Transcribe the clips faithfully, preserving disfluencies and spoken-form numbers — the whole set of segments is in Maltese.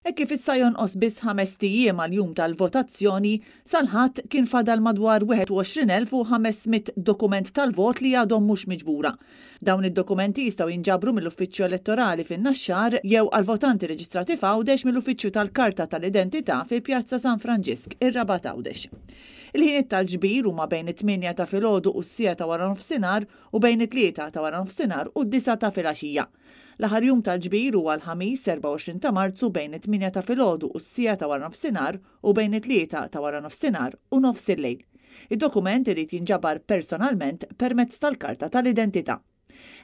Hekk kif issa jonqos biss ħamest ijiem għall-jum tal-votazzjoni, sal-Ħadd kien fadal madwar wieħed u għoxrin elf u ħames mitt dokument tal-vot li għadhom mhux miġbura. Dawn id-dokumenti jistgħu jinġabru mill-Uffiċċju Elettorali fin-Naxxar jew għal-votanti reġistrati f'Għawdex mill-Uffiċċju tal-Karta tal-Identità fi Pjazza San Franġisk, ir-Rabat Għawdex. Il-ħiniet tal-ġbir huma bejn it-tmienja ta' filgħodu u s-siegħa ta' wara nofsinhar u bejn it-tlieta ta' wara nofsinhar u d-disgħa ta' filgħaxija. L-aħħar jum tal-ġbir huwa l-Ħamis erbgħa u għoxrin ta' Marzu bejn it-tmienja ta' filgħodu u s-siegħa ta' wara nofsinhar u bejn it-tlieta ta' wara nofsinhar u nofs il-lejl. Id-dokument irid jinġabar personalment permezz tal-karta tal-identità.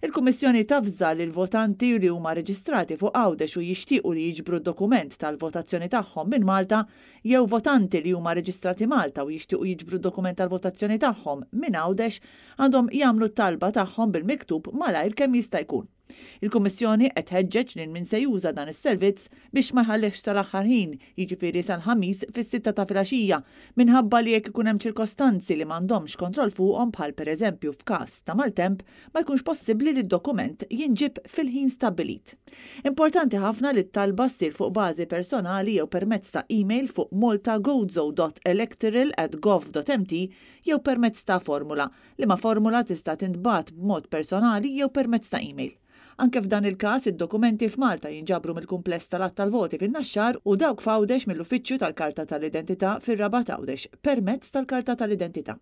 Il-Kummissjoni tavża lil votanti li huma reġistrati fuq Għawdex u jixtiequ li jiġbru d-dokument tal-votazzjoni tagħhom minn Malta jew votanti li huma reġistrati Malta u jixtiequ jiġbru d-dokument tal-votazzjoni tagħhom minn Għawdex għandhom jagħmlu t-talba tagħhom bil-miktub malajr kemm jista' jkun. Il-Kummissjoni qed tħeġġeġ lil min se juża dan is-servizz biex ma jħallihx sal-aħħar ħin, jiġifieri sal-Ħamis fis-sitta ta' filgħaxija, minħabba li jekk ikun hemm ċirkostanzi li m'għandhomx kontroll fuqhom bħal pereżempju f'każ ta' maltemp, ma jkunx possibbli li d-dokument jinġib fil-ħin stabbilit. Importanti ħafna li t-talba ssir fuq bażi personali jew permezz ta' email fuq maltagozo dot electoral at gov dot m t jew permezz ta' formula, liema formula tista' tintbagħat b'mod personali jew permezz ta' email. Anke f'dan il-każ, id-dokumenti f'Malta jinġabru mill-kumpless tal-Att tal-Voti fin-Naxxar u dawk f'Għawdex mill-Uffiċċju tal-Karta tal-Identità fir-Rabat Għawdex permezz tal-Karta tal-Identità.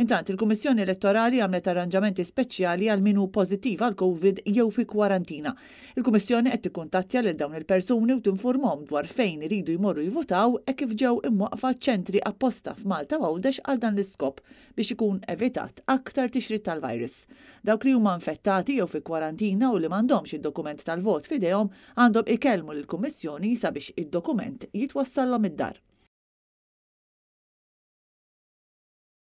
Intant, il-Kummissjoni Elettorali għamlet arranġamenti speċjali għal min hu pożittiv għal Covid jew fi kwarantina. Il-Kummissjoni qed tikkuntattja lil dawn il-persuni u tinformhom dwar fejn iridu jmorru jivutaw hekk kif ġew imwaqqfa ċentri apposta f'Malta u Għawdex għal dan l-iskop biex ikun evitat aktar tixrid tal-virus. Dawk li huma infettati jew fi kwarantina u li m'għandhomx id-dokument tal-vot f'idejhom għandhom ikellmu lill-Kummissjoni sabiex id-dokument jitwassallhom id-dar.